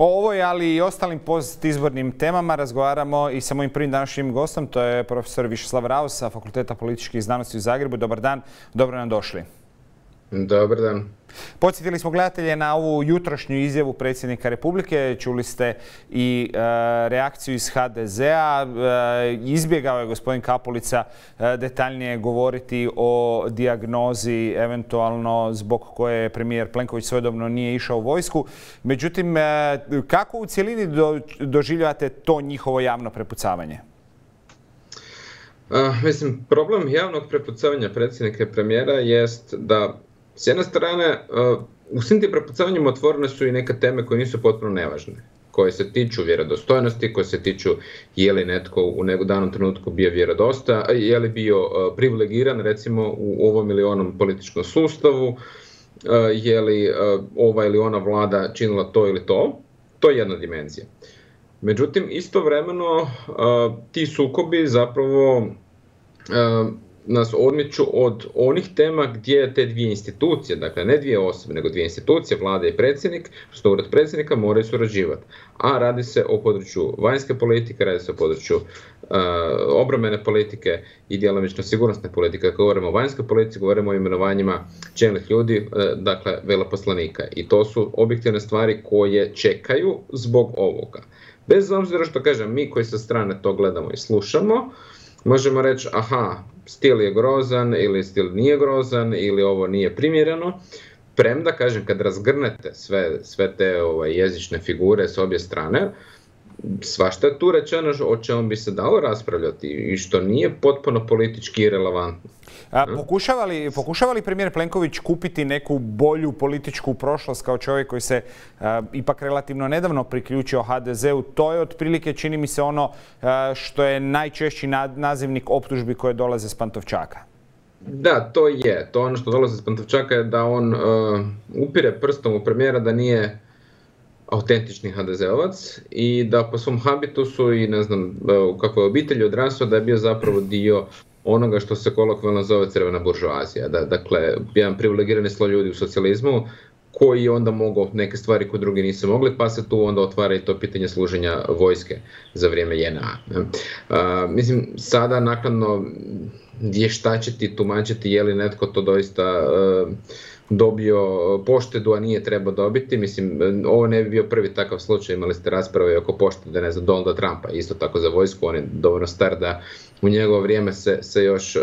O ovoj, ali i ostalim postizbornim temama razgovaramo i sa mojim prvim današnjim gostom, to je profesor Višeslav Raos sa Fakulteta političkih znanosti u Zagrebu. Dobar dan, dobro nam došli. Dobar dan. Podsjetili smo gledatelje na ovu jutrošnju izjavu predsjednika Republike. Čuli ste i reakciju iz HDZ-a. Izbjegao je gospodin Kapulica detaljnije govoriti o dijagnozi eventualno zbog koje premijer Plenković svojedobno nije išao u vojsku. Međutim, kako u cjelini doživljavate to njihovo javno prepucavanje? Mislim, problem javnog prepucavanja predsjednika i premijera jest da s jedne strane, u svim tim prepucavanjima otvorene su i neke teme koje nisu potpuno nevažne, koje se tiču vjerodostojnosti, koje se tiču je li netko u danom trenutku bio vjerodostojan, je li bio privilegiran recimo u ovom ili onom političkom sustavu, je li ova ili ona vlada činila to ili to. To je jedna dimenzija. Međutim, istovremeno ti sukobi zapravo nas odmiču od onih tema gdje te dvije institucije, dakle ne dvije osobe, nego dvije institucije, vlada i predsjednik, što ured predsjednika moraju surađivati. A radi se o području vanjske politike, radi se o području obrambene politike i djelomično sigurnosne politike. Kad govorimo o vanjskoj politici, govorimo o imenovanjima čelnih ljudi, dakle veleposlanika. I to su objektivne stvari koje čekaju zbog ovoga. Bez obzira što kažem, mi koji sa strane to gledamo i slušamo, možemo reći, aha, stil je grozan ili stil nije grozan ili ovo nije primjereno. Premda, kažem, kad razgrnete sve te jezične figure s obje strane, svašta je tu rečeno o čemu bi se dalo raspravljati i što nije potpuno politički irelevantno. Pokušava li premijer Plenković kupiti neku bolju političku prošlost kao čovjek koji se ipak relativno nedavno priključio HDZ-u? To je otprilike, čini mi se, ono što je najčešći nazivnik optužbi koje dolaze s Pantovčaka. Da, to je. To ono što dolaze s Pantovčaka je da on upire prstom u premijera da nije autentični HDZ-ovac i da po svom habitusu i ne znam u kakvoj obitelji odrasao da je bio zapravo dio onoga što se kolokvijalno zove crvena buržoazija. Dakle, jedan privilegirani sloj ljudi u socijalizmu koji je onda mogao neke stvari koje drugi nisu mogli, pa se tu onda otvara i to pitanje služenja vojske za vrijeme JNA. Mislim, sada naknadno vještačiti, tumačiti je li netko to doista dobio poštedu, a nije trebao dobiti. Mislim, ovo ne bi bio prvi takav slučaj, imali ste rasprave oko poštede, ne znam, Donalda Trumpa, isto tako za vojsku, on je dovoljno star da u njegovo vrijeme se još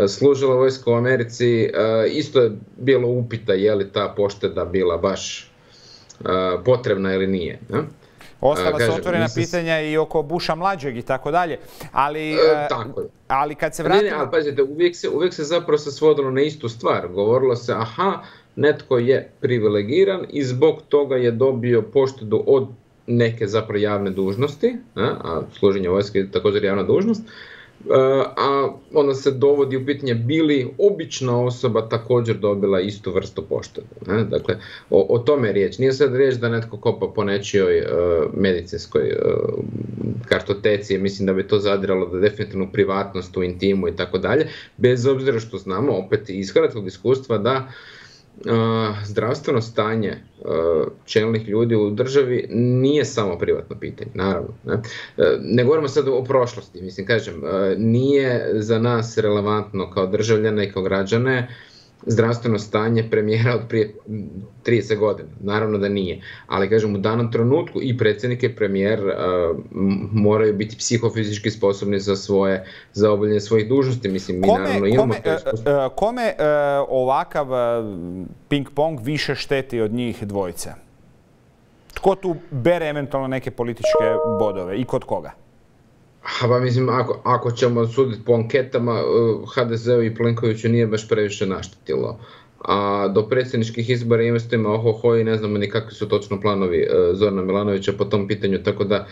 služila vojska u Americi. Isto je bilo upita je li ta pošteda bila baš potrebna ili nije. Ostala su otvorena pitanja i oko Busha mlađeg i tako dalje, ali kad se vratimo... ali pazite, uvijek se zapravo se svodilo na istu stvar. Govorilo se, aha, netko je privilegiran i zbog toga je dobio poštedu od neke zapravo javne dužnosti, a služenje vojske je također javna dužnost, a onda se dovodi u pitanje bi li obična osoba također dobila istu vrstu poštede. Dakle, o tome je riječ. Nije sad riječ da netko kopa po nečijoj medicinskoj kartoteci, mislim da bi to zadiralo da definitivno privatnost, u intimu i tako dalje, bez obzira što znamo opet iz hrvatskog iskustva da zdravstveno stanje čelnih ljudi u državi nije samo privatno pitanje, naravno. Ne govorimo sad o prošlosti, mislim, kažem, nije za nas relevantno kao državljane i kao građane zdravstveno stanje premijera od prije 30 godina. Naravno da nije. Ali, kažem, u danom trenutku i predsjednik i premijer moraju biti psihofizički sposobni za obavljanje svojih dužnosti. Mislim, mi naravno imamo to iskustvo. Kome ovakav ping-pong više šteti od njih dvojice? Tko tu bere eventualno neke političke bodove i kod koga? Pa mislim, ako ćemo suditi po anketama, HDZ-u i Plenkoviću nije baš previše naštetilo. A do predsjedničkih izbora investima ohoho i ne znamo ni kakvi su točno planovi Zorana Milanovića po tom pitanju, tako da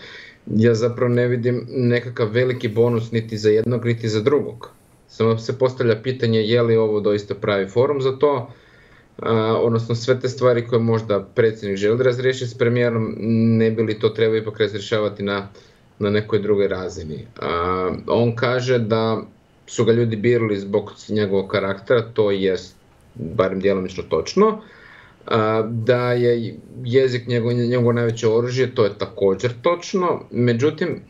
ja zapravo ne vidim nekakav veliki bonus niti za jednog, niti za drugog. Samo se postavlja pitanje je li ovo doista pravi forum za to, odnosno sve te stvari koje možda predsjednik želi razriješiti s premijerom, ne bi li to trebao ipak razrješavati na nekoj drugoj razini. On kaže da su ga ljudi birali zbog njegovog karaktera, to je barem djelomično točno, da je jezik njegovo najveće oružje, to je također točno. Međutim,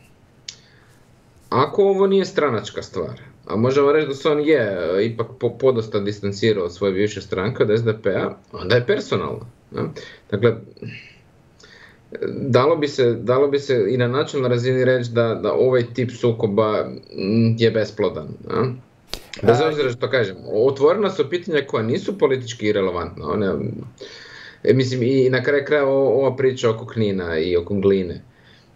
ako ovo nije stranačka stvar, a možemo reći da se on je ipak podosta distancirao od svoje bivše stranke, od SDP-a, onda je personalno. Dakle, dalo bi se i na načelnoj razini reći da ovaj tip sukoba je besplodan. Bez obzira što kažem, otvorena su pitanja koja nisu politički irelevantna. Mislim, i na kraju kraja ova priča oko Knina i oko Gline.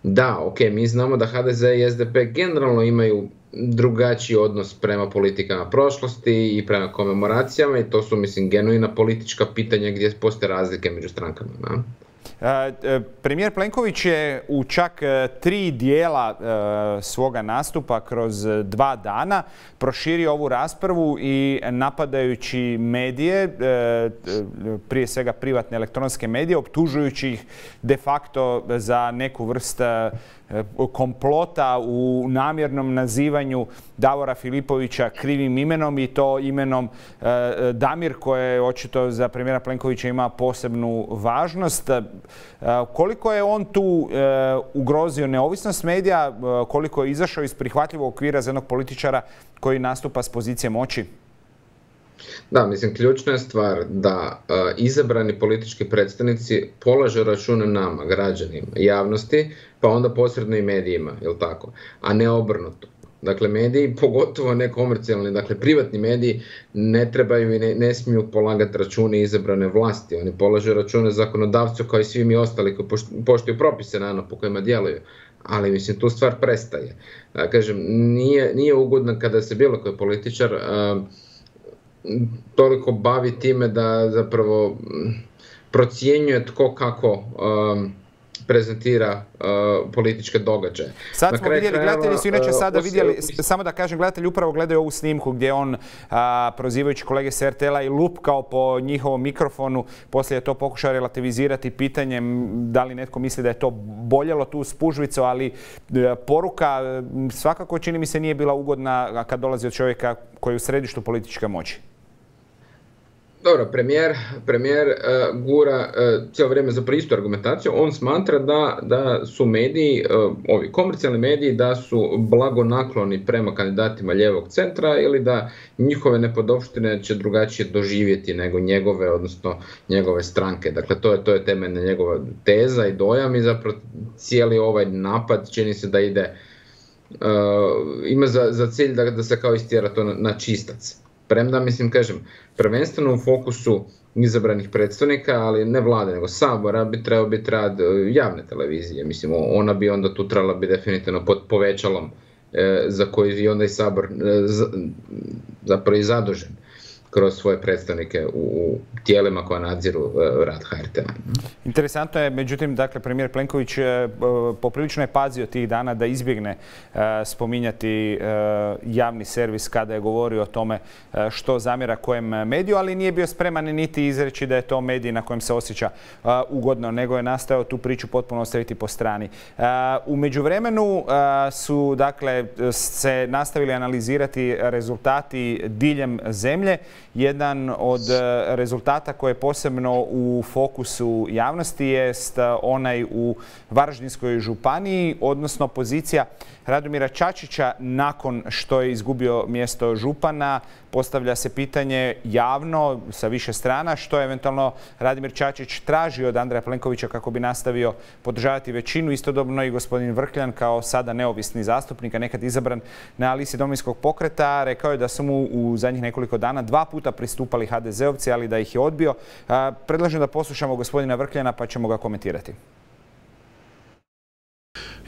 Da, ok, mi znamo da HDZ i SDP generalno imaju drugačiji odnos prema politikama prošlosti i prema komemoracijama i to su, mislim, genuina politička pitanja gdje postoje razlike među strankama. Premijer Plenković je u čak 3 dijela svoga nastupa kroz 2 dana proširio ovu raspravu i napadajući medije, prije svega privatne elektronske medije, optužujući ih de facto za neku vrstu komplota u namjernom nazivanju Davora Filipovića krivim imenom i to imenom Damir, koje očito za premijera Plenkovića ima posebnu važnost. Koliko je on tu ugrozio neovisnost medija, koliko je izašao iz prihvatljivog okvira za jednog političara koji nastupa s pozicije moći? Da, mislim, ključna je stvar da izabrani politički predstavnici polažu račune nama, građanima, javnosti, pa onda posredno i medijima, jel tako? A ne obrnuto. Dakle, mediji, pogotovo nekomercijalni, dakle, privatni mediji ne trebaju i ne smiju polagati račune izabrane vlasti. Oni polažu račune zakonodavcu kao i svi mi ostali koji poštuju propise naravno po kojima djeluju. Ali, mislim, tu stvar prestaje. Kažem, nije ugodno kada se bilo koji političar toliko bavi time da zapravo procjenjuje tko kako prezentira političke događaje. Sad smo vidjeli, gledatelji su inače sada vidjeli, samo da kažem, gledatelji upravo gledaju ovu snimku gdje on, prozivajući kolege s RTL-a, i lupkao po njihovom mikrofonu, poslije je to pokušao relativizirati pitanjem da li netko misli da je to boljelo tu spužvicu, ali poruka svakako čini mi se nije bila ugodna kad dolazi od čovjeka koji je u središtu političke moći. Dobro, premijer gura cijelo vrijeme za istu argumentaciju. On smatra da su mediji, ovi komercijalni mediji, da su blagonakloni prema kandidatima lijevog centra ili da njihove nepodopštine će drugačije doživjeti nego njegove, odnosno njegove stranke. Dakle, to je temeljna njegova teza i dojam i zapravo cijeli ovaj napad čini se da ima za cilj da se kao istjera to na čistac. Premda, mislim, kažem, prvenstveno u fokusu izabranih predstavnika, ali ne vlade, nego Sabora, bi trebao biti rad javne televizije. Mislim, ona bi onda tu trebala biti definitivno pod povećalom za koji je onda i Sabor zapravo i zadužen kroz svoje predstavnike u tijelima koja nadziru rad HRT-a. Interesantno je, međutim, dakle, premijer Plenković poprilično je pazio tih dana da izbjegne spominjati javni servis kada je govorio o tome što zamjera kojem mediju, ali nije bio spreman niti izreći da je to medij na kojem se osjeća ugodno, nego je nastojao tu priču potpuno ostaviti po strani. U međuvremenu su, dakle, se nastavili analizirati rezultati diljem zemlje. Jedan od rezultata koji je posebno u fokusu javnosti jest onaj u Varaždinskoj županiji, odnosno pozicija Radomira Čačića nakon što je izgubio mjesto župana. Postavlja se pitanje javno sa više strana što je eventualno Radimir Čačić tražio od Andreja Plenkovića kako bi nastavio podržavati većinu. Istodobno i gospodin Vrkljan kao sada neovisni zastupnik, a nekad izabran na listi Domovinskog pokreta, rekao je da su mu u zadnjih nekoliko dana 2 puta pristupali HDZ-ovci, ali da ih je odbio. Predlažem da poslušamo gospodina Vrkljana pa ćemo ga komentirati.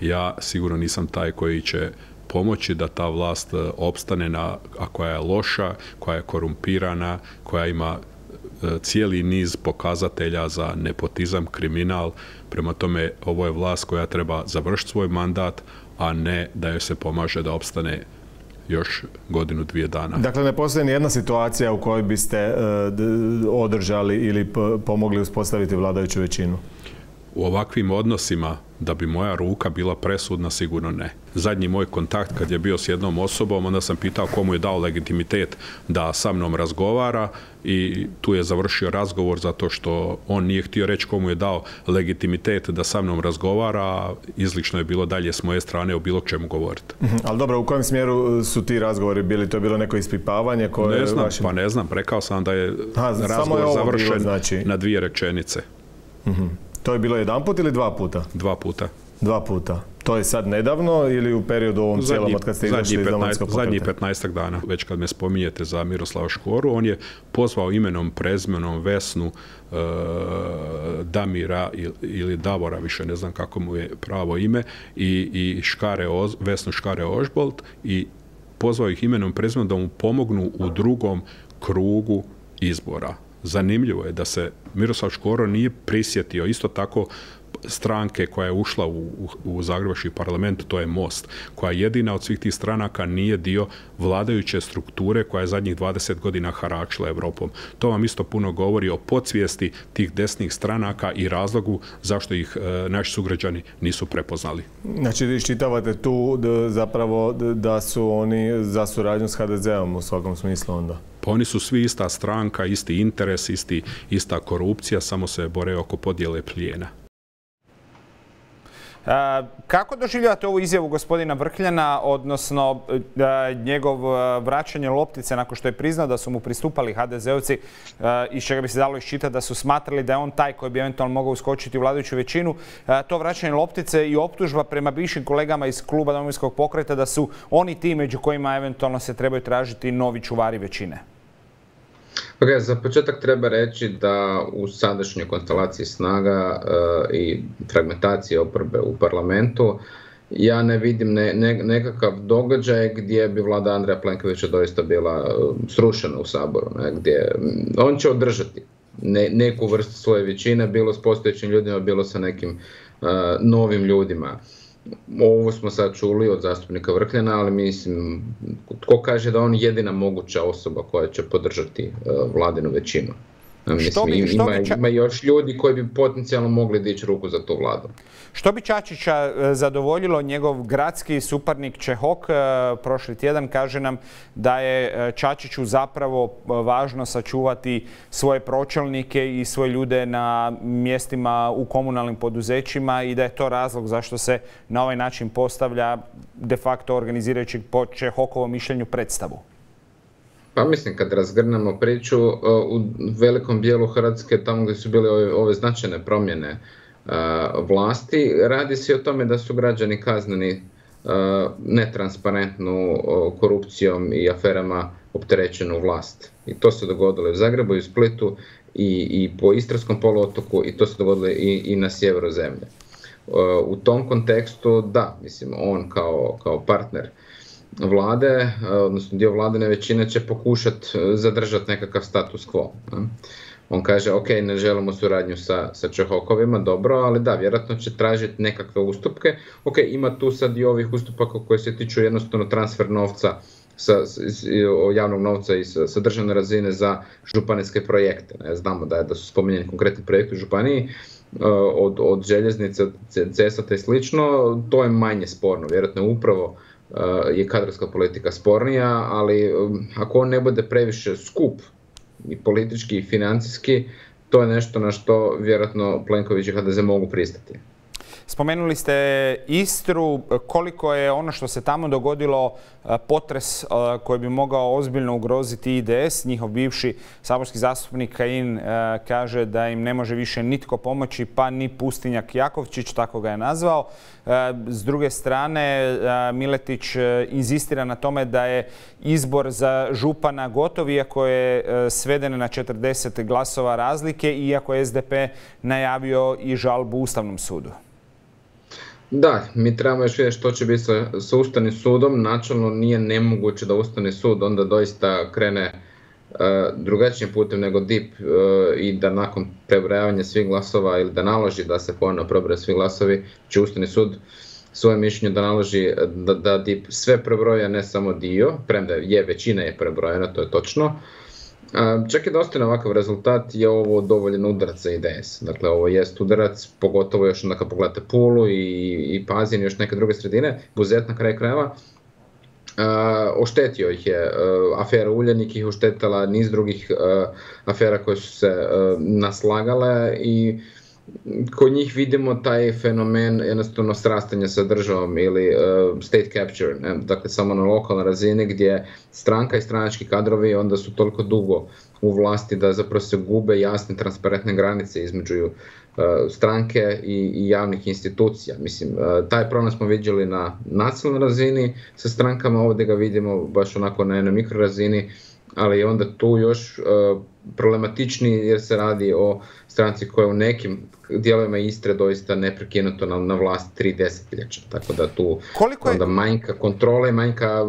Ja sigurno nisam taj koji će pomoći da ta vlast opstane, a koja je loša, koja je korumpirana, koja ima cijeli niz pokazatelja za nepotizam, kriminal. Prema tome, ovo je vlast koja treba završiti svoj mandat, a ne da joj se pomaže da opstane još 1-2 dana. Dakle, ne postoji nijedna situacija u kojoj biste održali ili pomogli uspostaviti vladajuću većinu? u ovakvim odnosima da bi moja ruka bila presudna, sigurno ne. Zadnji moj kontakt kad je bio s jednom osobom, onda sam pitao komu je dao legitimitet da sa mnom razgovara i tu je završio razgovor zato što on nije htio reći komu je dao legitimitet da sa mnom razgovara, a izlično je bilo dalje s moje strane o bilo čemu govoriti. Ali dobro, u kojem smjeru su ti razgovori bili? To je bilo neko ispipavanje koje... Ne znam, rekao sam da je razgovor završen na 2 rečenice. To je bilo jedanput ili 2 puta? 2 puta. 2 puta. To je sad nedavno ili u periodu ovom cijelom od kad ste izašli iz Domovinskog pokreta? Zadnjih 15 dana. Već kad me spominjete za Miroslava Škoru, on je pozvao imenom, prezmenom Vesnu, Damira ili Davora, više ne znam kako mu je pravo ime, i Vesnu Škare-Ožbolt i pozvao ih imenom, prezmenom da mu pomognu u drugom krugu izbora. Zanimljivo je da se Miroslav Škoro nije prisjetio isto tako stranke koja je ušla u Zagrebački parlament, to je Most, koja jedina od svih tih stranaka nije dio vladajuće strukture koja je zadnjih 20 godina haračila Europom. To vam isto puno govori o podsvijesti tih desnih stranaka i razlogu zašto ih naši sugrađani nisu prepoznali. Znači, iščitavate tu zapravo da su oni za suradnju s HDZ-om u svakom smislu onda? Pa oni su svi ista stranka, isti interes, ista korupcija, samo se bore oko podjele plijena. Kako doživljavate ovu izjavu gospodina Vrkljana, odnosno njegov vraćanje loptice nakon što je priznao da su mu pristupali HDZ-ovci, iz čega bi se dalo iščitati da su smatrali da je on taj koji bi eventualno mogao uskočiti u vladajuću većinu, to vraćanje loptice i optužba prema bivšim kolegama iz kluba Domovinskog pokreta da su oni ti među kojima eventualno se trebaju tražiti novi čuvari većine? Okay, za početak treba reći da u sadašnjoj konstelaciji snaga i fragmentacije oporbe u parlamentu ja ne vidim nekakav događaj gdje bi vlada Andreja Plenkovića doista bila srušena u Saboru, gdje on će održati neku vrstu svoje većine, bilo s postojećim ljudima, bilo sa nekim novim ljudima. Ovo smo sad čuli od zastupnika Vrkljana, ali mislim, tko kaže da on jedina moguća osoba koja će podržati vladinu većinu? Ima još ljudi koji bi potencijalno mogli dići ruku za tu vladu. Što bi Čačića zadovoljilo? Njegov gradski suparnik Čehok prošli tjedan kaže nam da je Čačiću zapravo važno sačuvati svoje pročelnike i svoje ljude na mjestima u komunalnim poduzećima i da je to razlog zašto se na ovaj način postavlja de facto organizirajući po Čehokovom mišljenju predstavu. Pa mislim, kad razgrnemo priču, u velikom dijelu Hrvatske, tamo gdje su bile ove značajne promjene vlasti, radi se o tome da su građani kazneni netransparentnu korupcijom i aferama opterećenu vlast. I to se dogodilo i u Zagrebu i u Splitu i po Istarskom poluotoku i to se dogodilo i na sjeveru zemlje. U tom kontekstu, da, mislim, on kao partner vlade, odnosno dio vladine većine će pokušati zadržati nekakav status quo. On kaže, ok, ne želimo suradnju sa Čehokovima, dobro, ali da, vjerojatno će tražiti nekakve ustupke. Ok, ima tu sad i ovih ustupaka koji se tiču jednostavno transfer novca, javnog novca i sa državne razine za županijske projekte. Znamo da su spominjeni konkretni projekti u županiji, od željeznice, od cesta i slično, to je manje sporno, vjerojatno upravo je kadrovska politika spornija, ali ako on ne bude previše skup i politički i financijski, to je nešto na što vjerojatno Plenković i HDZ mogu pristati. Spomenuli ste Istru, koliko je ono što se tamo dogodilo potres koji bi mogao ozbiljno ugroziti IDS. Njihov bivši saborski zastupnik Kajin kaže da im ne može više nitko pomoći, pa ni Pustinjak Jakovčić, tako ga je nazvao. S druge strane, Miletić inzistira na tome da je izbor za župana gotov, iako je sveden na 40 glasova razlike, iako je SDP najavio i žalbu Ustavnom sudu. Da, mi trebamo još vidjeti što će biti sa Ustavnim sudom. Načelno nije nemoguće da Ustavni sud onda doista krene drugačijim putem nego DIP i da nakon prebrojavanja svih glasova ili da naloži da se ponovno prebroje svi glasovi, će Ustavni sud svoje mišljenje da naloži da DIP sve prebroja, ne samo dio, premda je većina je prebrojena, to je točno. Čak i da ostane ovakav rezultat je ovo dovoljan udarac za IDS. Dakle, ovo jest udarac, pogotovo još onda kad pogledate Pulu i Pazin i još neke druge sredine, Buzet na kraju krajeva. Oštetio ih je, afera Uljanik ih oštetila, niz drugih afera koje su se naslagale i kod njih vidimo taj fenomen jednostavno srastanja sa državom ili state capture, ne? Dakle samo na lokalnoj razini gdje stranka i stranački kadrovi onda su toliko dugo u vlasti da zapravo se gube jasne transparentne granice između stranke i javnih institucija. Mislim, taj problem smo vidjeli na nacionalnoj razini sa strankama, ovdje ga vidimo baš onako na jednoj mikrorazini, ali je onda tu još problematičniji jer se radi o stranci koja u nekim dijelovima Istre doista neprekinuto na vlast 3 desetljeća. Tako da tu onda manjka kontrole i manjka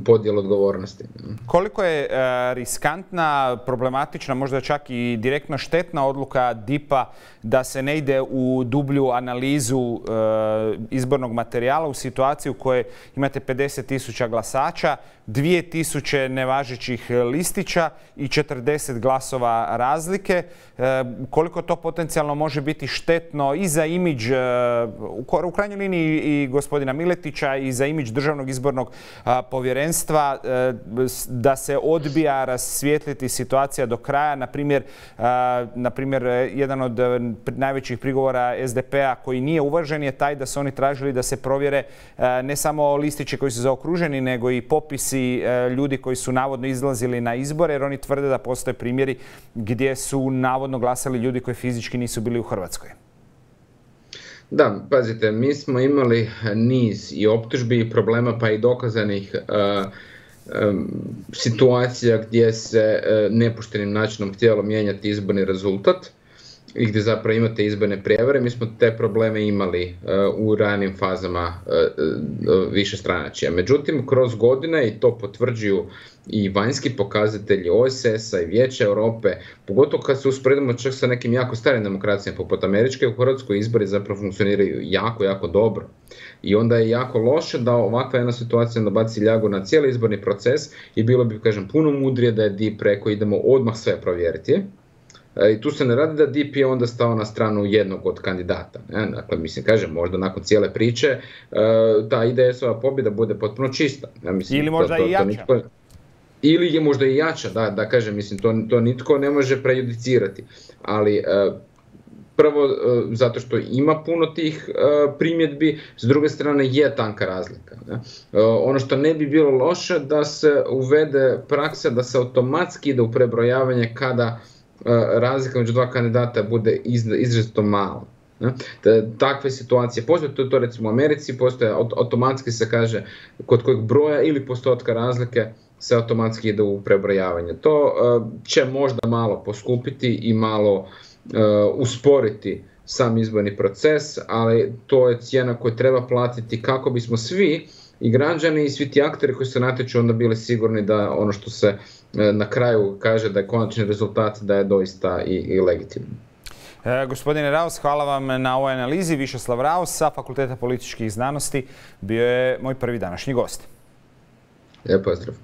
podjela odgovornosti. Koliko je riskantna, problematična, možda čak i direktno štetna odluka DIP-a da se ne ide u dublju analizu izbornog materijala u situaciji u kojoj imate 50.000 glasača, 2.000 nevažećih listića i 40 glasova razlike. Koliko to potencijalno može biti štetno i za imidž, u krajnjoj liniji i gospodina Miletića i za imidž Državnog izbornog povjerenstva, da se odbija rasvijetliti situacija do kraja. Na primjer, jedan od najvećih prigovora SDP-a koji nije uvažen je taj da su oni tražili da se provjere ne samo listići koji su zaokruženi, nego i popisi ljudi koji su navodno izlazili na izbore, jer oni tvrde da postoje primjeri gdje su navodno glasali ljudi koji fizički nisu bili u Hrvatskoj. Da, pazite, mi smo imali niz i optužbi i problema pa i dokazanih situacija gdje se nepoštenim načinom htjelo mijenjati izborni rezultat i gdje zapravo imate izborne prijevare. Mi smo te probleme imali u ranim fazama višestranačja. Međutim, kroz godine, i to potvrđuju i vanjski pokazatelji OESS-a i Vijeća Europe, pogotovo kad se usporedimo čak sa nekim jako starim demokracijama poput američke, u Hrvatskoj izbori zapravo funkcioniraju jako, jako dobro. I onda je jako loše da ovakva jedna situacija baci ljagu na cijeli izborni proces i bilo bi, kažem, puno mudrije da je DIP rekao idemo odmah sve provjeriti. I tu se ne radi da DIP je onda stao na stranu jednog od kandidata. Ne? Dakle, mislim, kažem, možda nakon cijele priče ta IDS-ova pobjeda bude potpuno čista. Ja, mislim, ili možda i jača. Ili je možda i jača, da kažem, mislim, to nitko ne može prejudicirati. Ali prvo, zato što ima puno tih primjedbi, s druge strane je tanka razlika. Ne? Ono što ne bi bilo loše da se uvede praksa da se automatski ide u prebrojavanje kada razlika među dva kandidata bude izrazito mala. Takve situacije postoje, to recimo u Americi postoje, automatski se kaže kod kojeg broja ili postotka razlike se automatski ide u prebrojavanje. To će možda malo poskupiti i malo usporiti sam izborni proces, ali to je cijena koju treba platiti kako bismo svi i građani i svi ti akteri koji se natječu onda bili sigurni da ono što se na kraju kaže da je konačni rezultat da je doista i legitimno. Gospodine Raus, hvala vam na ovoj analizi. Višeslav Raus sa Fakulteta političkih znanosti bio je moj prvi današnji gost. Lijep pozdrav.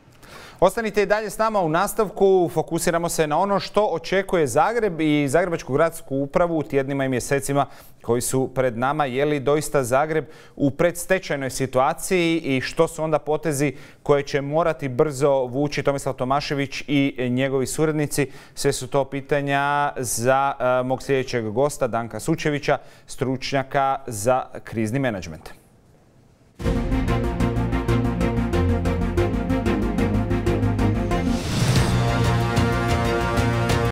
Ostanite i dalje s nama u nastavku. Fokusiramo se na ono što očekuje Zagreb i Zagrebačku gradsku upravu u tjednima i mjesecima koji su pred nama. Je li doista Zagreb u predstečajnoj situaciji i što su onda potezi koje će morati brzo vući Tomislav Tomašević i njegovi suradnici? Sve su to pitanja za mog sljedećeg gosta, Danka Sučevića, stručnjaka za krizni menadžment.